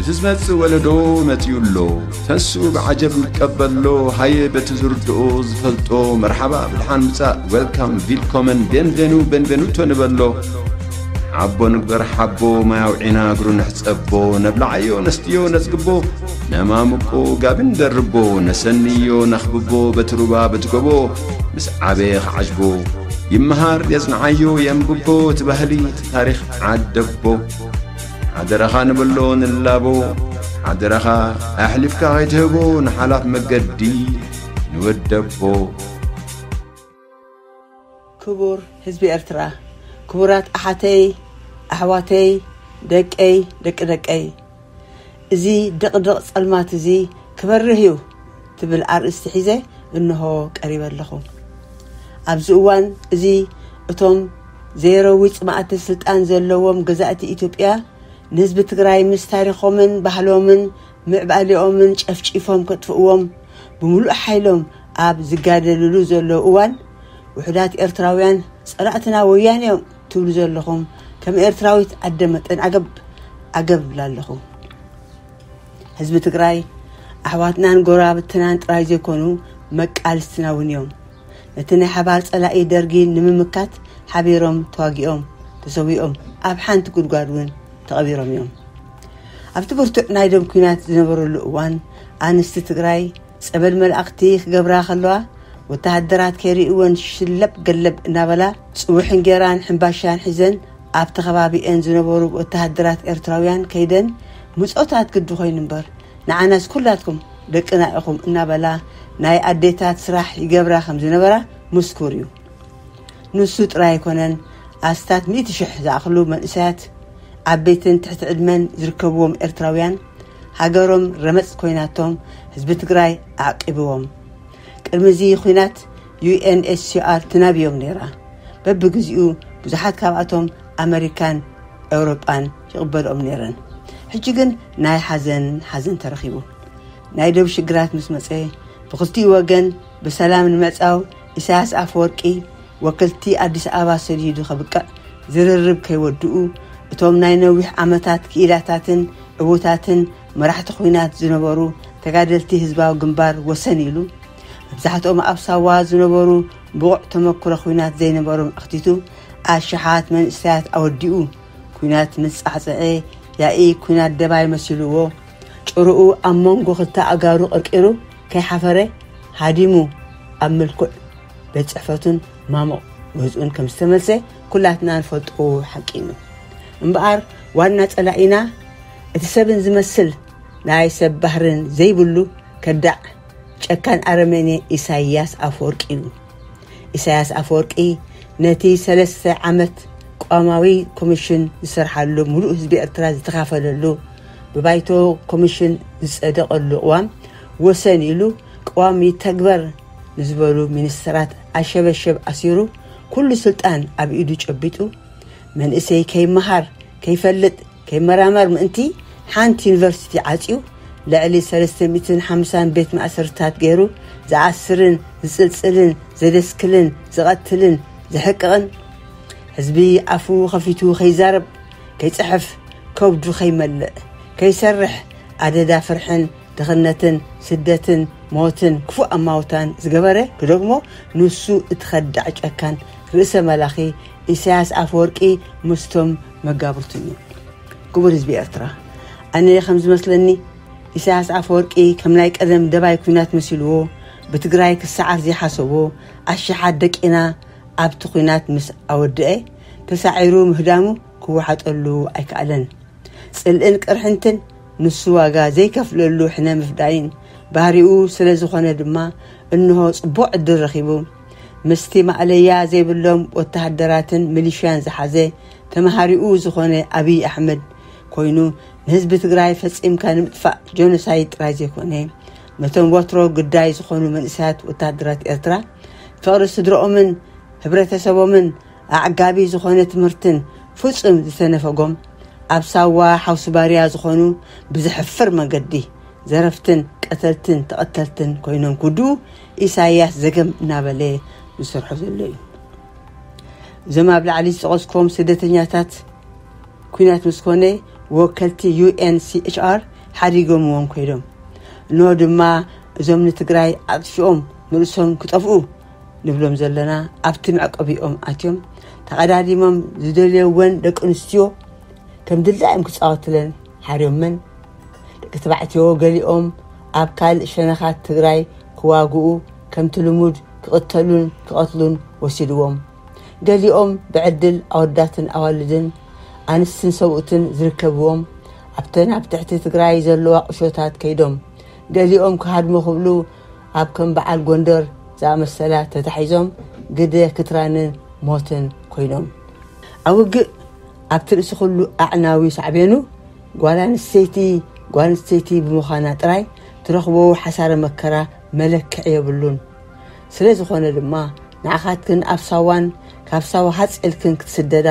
እቲ ዝመጽእ ወለዶ መጺኡ ኣሎ። ተንስኡ ብዓጀብ ንቀበሎ። ሃየ በቲ ዝርድኦ ዝፈልጦ መርሓባ ብድሓን ምጻእ፣ ዌልካም፣ ቪልኮመን፣ ቤንቬኑ፣ ቤንቬኑቶ ንበሎ። ሓቦ ንግበር ሓቦ፣ ማይ ኣውዒና እግሩ ንሕጸቦ። ነብልዓዮ ነስትዮ ነጽግቦ፣ ነማምቆ ጋቢ ንደርቦ። ነሰንዮ ነኽብቦ በቲ ሩባ በቲ ጎቦ። ምስ ዓበየ ክዓጅቦ ይመሃር የጽንዓዮ የንብቦ። እቲ ባህሊ እቲ ታሪኽ ዓደቦ። ሓደራኻ ንብሎ ንላቦ። ሓደራኻ ኣሕሊፍካ ከይትህቦ ንሓላፍ መገዲ ንወደቦ። ክቡር ህዝቢ ኤርትራ፣ ክቡራት ኣሓተይ፣ ኣሕዋተይ፣ ደቀይ፣ ደቂ ደቀይ፣ እዚ ድቕድቕ ጸልማት እዚ ክበርህ እዩ ትብል ኣርእስቲ ሒዘ እንሆ ቀሪበ ኣለኹ። ኣብዚ እዋን እዚ እቶም ዘይረዊ ጽማእቲ ስልጣን ዘለዎም ገዛእቲ ኢትዮጵያ ንህዝቢ ትግራይ ምስ ታሪኾምን ባህሎምን ምዕባሌኦምን ጨፍጪፎም ከጥፍእዎም ብምሉእ ሓይሎም ኣብ ዝጋደልሉ ዘለዉ እዋን፣ ውሑዳት ኤርትራውያን ጸላእትና ወያነ እዮም ትብሉ ዘለኹም ከም ኤርትራዊት ኣደ መጠን ዓገብ ዓገብ እብላ ኣለኹ። ህዝቢ ትግራይ ኣሕዋትናን ጎረባብትናን ጥራይ ዘይኮኑ መቃልስትና እውን እዮም። ነቲ ናይ ሓባር ጸላኢ ደርጊ ንምምካት ሓቢሮም ተዋጊኦም ተሰዊኦም ኣብ ሓንቲ ጉድጓድ እውን ተቐቢሮም እዮም። ኣብቲ ብርቱዕ ናይ ደም ኲናት ዝነበረሉ እዋን ኣንስቲ ትግራይ ጸበል መላእኽቲ ክገብራ ከለዋ ወተሃደራት ከይርእወን ሽለብ ገለብ እናበላ ጽውሕ እንጌራን ሕምባሻን ሒዘን ኣብቲ ከባቢኤን ዝነበሩ ወተሃደራት ኤርትራውያን ከይደን ምጾታት ግዲ ኮይኑ እምበር ንዓናስ ኩላትኩም ደቅና ኢኹም እናበላ ናይ ኣዴታት ስራሕ ይገብራ ከም ዝነበራ ምስኩር እዩ። ንሱ ጥራይ ኣይኮነን፣ ኣስታት ሚእቲ ሽሕ ዝኣኽሉ መንእሰያት ዓበይትን ትሕቲ ዕድመን ዝርከብዎም ኤርትራውያን ሃገሮም ረመጽ ኮይናቶም ህዝቢ ትግራይ ኣዕቂብዎም። ቅድሚ እዚ ኹናት ዩ ኤን ኤች ሲ ኣር ትናብዮም ነይራ። በብግዚኡ ብዙሓት ካብኣቶም ኣመሪካን ኤውሮጳን ይቕበልኦም ነይረን። ሕጂ ግን ናይ ሓዘን ሓዘን ተረኺቡ። ናይ ደብ ሽግራት ምስ መጸ ብኽልቲኡ ወገን ብሰላም ንምዕጻው ኢሳያስ ኣፈወርቂ ወከልቲ ኣዲስ ኣበባ ሰዲዱ ከብቅዕ ዝርርብ ከይወድኡ እቶም ናይ ነዊሕ ዓመታት ክኢላታትን ዕዉታትን መራሕቲ ኹናት ዝነበሩ ተጋደልቲ ህዝባዊ ግንባር ወሰን ኢሉ መብዛሕትኦም ኣብ ሳዋ ዝነበሩ ብቑዕ ተመክሮ ኹናት ዘይነበሮም ኣኽቲቱ ኣሽሓት መንእሰያት ኣወዲኡ። ኲናት ምስ ጻዕጸዐ ያኢ ኲናት ደባይ መሲልዎ ጭርኡ ኣብ መንጎ ክልተ ኣጋሩ ቀርቂሩ ከይሓፈረ ሃዲሙ ኣብ ምልኩዕ ቤት ጽሕፈቱን ማሙቕ ገዝኡን ከም ዝተመልሰ ኩላትና ንፈልጦ ሓቂ እዩ። እምበኣር ዋና ጸላኢና እቲ ሰብን ዝመስል ናይ ሰብ ባህርን ዘይብሉ ከዳዕ ጨካን ኣረመኔ ኢሳይያስ ኣፈወርቂ እዩ። ኢሳያስ ኣፈወርቂ ነቲ ሰለስተ ዓመት ቅዋማዊ ኮሚሽን ዝሰርሓሉ፣ ሙሉእ ህዝቢ ኤርትራ ዝተኻፈለሉ፣ ብባይቶ ኮሚሽን ዝጸደቐሉ ቅዋም ወሰን ኢሉ ቅዋም ይተግበር ንዝበሉ ሚኒስተራት ኣሸበሸብ ኣሲሩ፣ ኩሉ ስልጣን ኣብ ኢዱ ጨቢጡ፣ መንእሰይ ከይመሃር፣ ከይፈልጥ፣ ከይመራመር ምእንቲ ሓንቲ ዩኒቨርሲቲ ዓጽዩ ልዕሊ ሰለስተ ሚእትን ሓምሳን ቤት ማእሰርታት ገይሩ ዝኣስርን ዝጽልጽልን ዘደስክልን ዝቐትልን ዝሕቅቕን ህዝቢ ኣፉ ከፊቱ ከይዛረብ ከይጽሕፍ ከብዱ ከይመልእ ከይሰርሕ ኣደዳ ፍርሕን ድኽነትን ስደትን ሞትን ክፉእ ኣማውታን ዝገበረ ክደግሞ ንሱ እቲ ከዳዕ ጨካን ርእሰ መላኺ ኢሳያስ ኣፈወርቂ ምስቶም መጋብርቱን እዩ። ክቡር ህዝቢ ኤርትራ፣ ኣነ ከም ዝመስለኒ ኢሳያስ ኣፈወርቂ ከም ናይ ቀደም ደባይ ኲናት መሲልዎ ብትግራይ ክሰዓር ዘይሓሰቦ ኣሽሓት ደቂና ኣብቲ ኲናት ምስ ኣወድአ ተሳዒሩ ምህዳሙ ክወሓጠሉ ኣይከኣለን። ጽልእን ቅርሕንትን ንሱ ዋጋ ዘይከፍለሉ ሕነ ምፍዳይን ባህሪኡ ስለ ዝኾነ ድማ እንሆ ጽቡቕ ዕድል ረኺቡ ምስቲ ማእለያ ዘይብሎም ወተሃደራትን ሚሊሽያን ዝሓዘ ተመሃሪኡ ዝኾነ ኣብይ ኣሕመድ ኮይኑ ንህዝቢ ትግራይ ፈጺምካ ንምጥፋእ ጀኖሳይድ ጥራይ ዘይኮነ ነቶም ወትሮ ግዳይ ዝኾኑ መንእሰያት ወተሃደራት ኤርትራ ፍቕሪ ስድረኦምን ህብረተሰቦምን ኣዕጋቢ ዝኾነ ትምህርትን ፍጹም ዝተነፈጎም ኣብ ሳዋ ሓውሲ ባርያ ዝኾኑ ብዘሕፍር መንገዲ ዘረፍትን ቀተልትን ተቐተልትን ኮይኖም ክውድኡ ኢሳይያስ ዘገም እናበለ ዝሰርሖ ዘሎ እዩ። እዞም ኣብ ላዕሊ ዝጠቐስኩም ስደተኛታት ኲናት ምስ ኮነ ወከልቲ ዩ ኤን ሲ ኤች ኣር ሓዲጎምዎም ኮይዶም። ኖ ድማ እዞም ንትግራይ ኣጥፊኦም ንርእሶም ክጠፍኡ ንብሎም ዘለና ኣብቲ መዕቆቢኦም ኣትዮም ተቐዳዲሞም ዝደልየወን ደቂ ኣንስትዮ ከም ድላዮም ክጻወትለን ሓርዮመን። ደቂ ተባዕትዮ ገሊኦም ኣብ ካልእ ሸነኻት ትግራይ ክዋግኡ ከምቲ ልሙድ ክቕተሉን ክቐትሉን ወሲድዎም። ገሊኦም ብዕድል ኣወዳትን ኣዋልድን ኣንስትን ሰብኡትን ዝርከብዎም ኣብተን ኣብ ትሕቲ ትግራይ ዘለዋ ቁሾታት ከይዶም። ገሊኦም ክሃድሙ ክብሉ ኣብ ከም በዓል ጎንደር ዝኣመሰላ ተታሒዞም ግደ ክትራንን ሞትን ኮይኖም። ኣብ ውግእ ኣብቲ ርእሲ ኩሉ ኣዕናዊ ሳዕቤኑ ጓል ኣንስተይቲ ጓል ኣንስተይቲ ብምዃና ጥራይ ትረኽቦ ሓሳረ መከራ መለክዒ የብሉን። ስለ ዝኾነ ድማ ንዓኻትክን ኣብ ሳዋን ካብ ሳዋ ሃጽ ኢልክን ክትስደዳ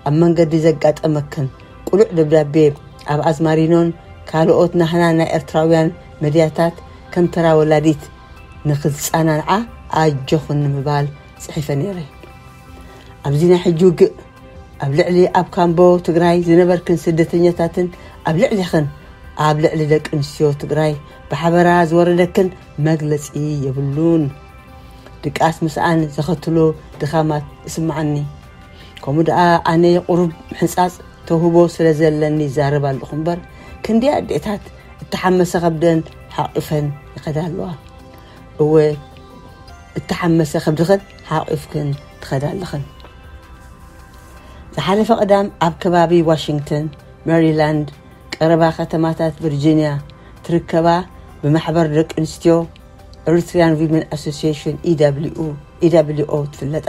ኣብ መንገዲ ዘጋጠመክን ቅሉዕ ደብዳቤ ኣብ ኣዝማሪኖን ካልኦት ናህና ናይ ኤርትራውያን መድያታት ከም ተራ ወላዲት ንኽትጸናንዓ ኣጆኽን ንምባል ጽሒፈ ነይረ። ኣብዚ ናይ ሕጂ ውግእ ኣብ ልዕሊ ኣብ ካምቦ ትግራይ ዝነበርክን ስደተኛታትን ኣብ ልዕሊኽን ኣብ ልዕሊ ደቂ ኣንስትዮ ትግራይ ብሓበራ ዝወረደክን መግለጺ የብሉን። ድቃስ ምስኣን ዘኸትሎ ድኻማት ይስምዓኒ። ከምኡ ደኣ ኣነ ቁሩብ ምሕጻጽ ተውህቦ ስለ ዘለኒ ይዛረብ ኣለኹ እምበር ክንደይ ኣዴታት እተሓመሰ ከብደን ሓቒፈን ይኸዳ ኣለዋ። እወ እተሓመሰ ከብድኽን ሓቒፍክን ትኸዳ ኣለኽን። ዝሓለፈ ቀዳም ኣብ ከባቢ ዋሽንግተን፣ ሜሪላንድ፣ ቀረባ ከተማታት ቨርጂንያ ትርከባ ብማሕበር ደቂ ኣንስትዮ ኤሪትሪያን ዊመን ኣሶሲሽን ኢደብሊው ኦ ትፍለጣ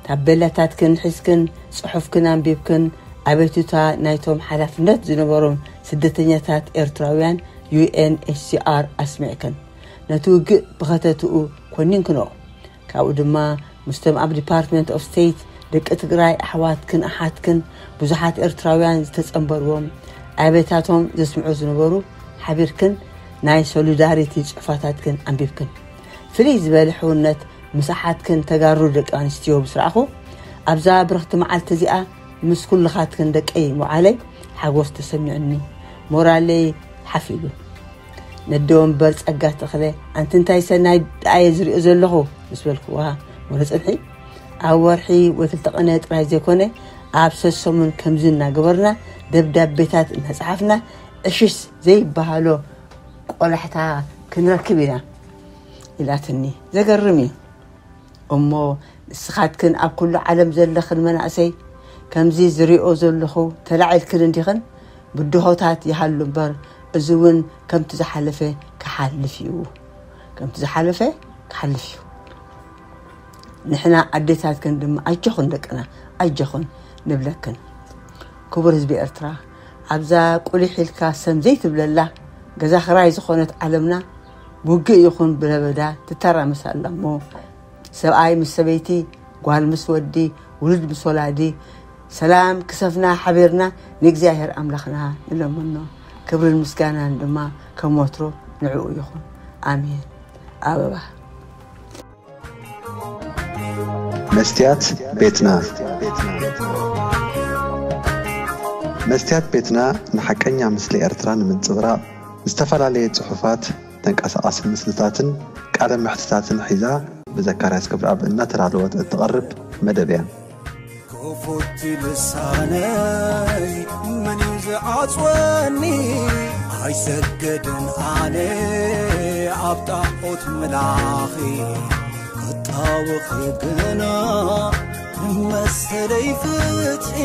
ታቤላታትክን ሒዝክን ጽሑፍክን ኣንቢብክን ኣቤቱታ ናይቶም ሓላፍነት ዝነበሮም ስደተኛታት ኤርትራውያን ዩ ኤን ኤች ሲ ኣር ኣስሚዕክን ነቲ ውግእ ብኸተትኡ ኮኒንክኖ ካብኡ ድማ ምስቶም ኣብ ዲፓርትመንት ኦፍ ስቴት ደቂ ትግራይ ኣሕዋትክን ኣሓትክን ብዙሓት ኤርትራውያን ዝተጸንበርዎም ኣቤታቶም ዘስምዑ ዝነበሩ ሓቢርክን ናይ ሶሊዳሪቲ ጽሑፋታትክን ኣንቢብክን ፍልይ ዝበለ ሕውነት ምስ ኣሓትክን ተጋሩ ደቂ ኣንስትዮ ምስ ረኣኹ ኣብዛ ብርኽቲ መዓልቲ እዚኣ ምስ ኩልኻትክን ደቀይ መዓለይ ሓጎስ ተሰሚዑኒ ሞራለይ ሓፍ ኢሉ ነደ ወንበር ጸጋ ተኽለ ኣንቲ እንታይ ሰናይ ደኣየ ዝሪኦ ዘለኹ ምስ በልክዋ ወረ ጽንሒ ኣብ ወርሒ ወይ ክልተ ቀነ ጥራይ ዘይኮነ ኣብ ሰሰሙን ከምዚ እናገበርና ደብዳቤታት እናጸሓፍና ዕሽሽ ዘይበሃሎ ቆላሕታ ክንረክብ ኢና ኢላትኒ። ዘገርም እዩ። እሞ ንስኻትክን ኣብ ኩሉ ዓለም ዘለኽን መናእሰይ ከምዚ ዝሪኦ ዘለኹ ተላዒልክን እንዲኽን ብድሆታት ይሃሉ እምበር እዚ እውን ከምቲ ዝሓለፈ ክሓልፍ እዩ። ከምቲ ዝሓለፈ ክሓልፍ እዩ። ንሕና ኣዴታትክን ድማ ኣጆኹን ደቅና ኣጆኹን ንብለክን። ክቡር ህዝቢ ኤርትራ ኣብዛ ቁሊሕ ኢልካ ሰም ዘይትብለላ ገዛ ክራይ ዝኾነት ዓለምና ብውግእ ይኹን ብለበዳ ትተራመስ ኣላ እሞ ሰብኣይ ምስ ሰበይቲ ጓል ምስ ወዲ ውሉድ ምስ ወላዲ ሰላም ክሰፍና ሓቢርና ንእግዚኣብሔር ኣምላኽና ንለምኖ ክብርን ምስጋናን ድማ ከም ወትሮ ንዕኡ ይኹን ኣሜን ኣበባ መስትያት ቤትና መስትያት ቤትና ንሓቀኛ ምስሊ ኤርትራ ንምንጽብራቕ ዝተፈላለየ ጽሑፋት ተንቀሳቓሲ ምስልታትን ቃለ መሕትታትን ሒዛ ብዘካርያስ ክብረኣብ እናተዳለወት እትቐርብ መደብ እያ። ክፉት ልሳነይ መን እዩ ዝዓጽወኒ? ኣይሰግድን ኣነ ኣብ ጣዖት ምላኺ ክጣወኺ ግና ንመሰለይ ፍትሒ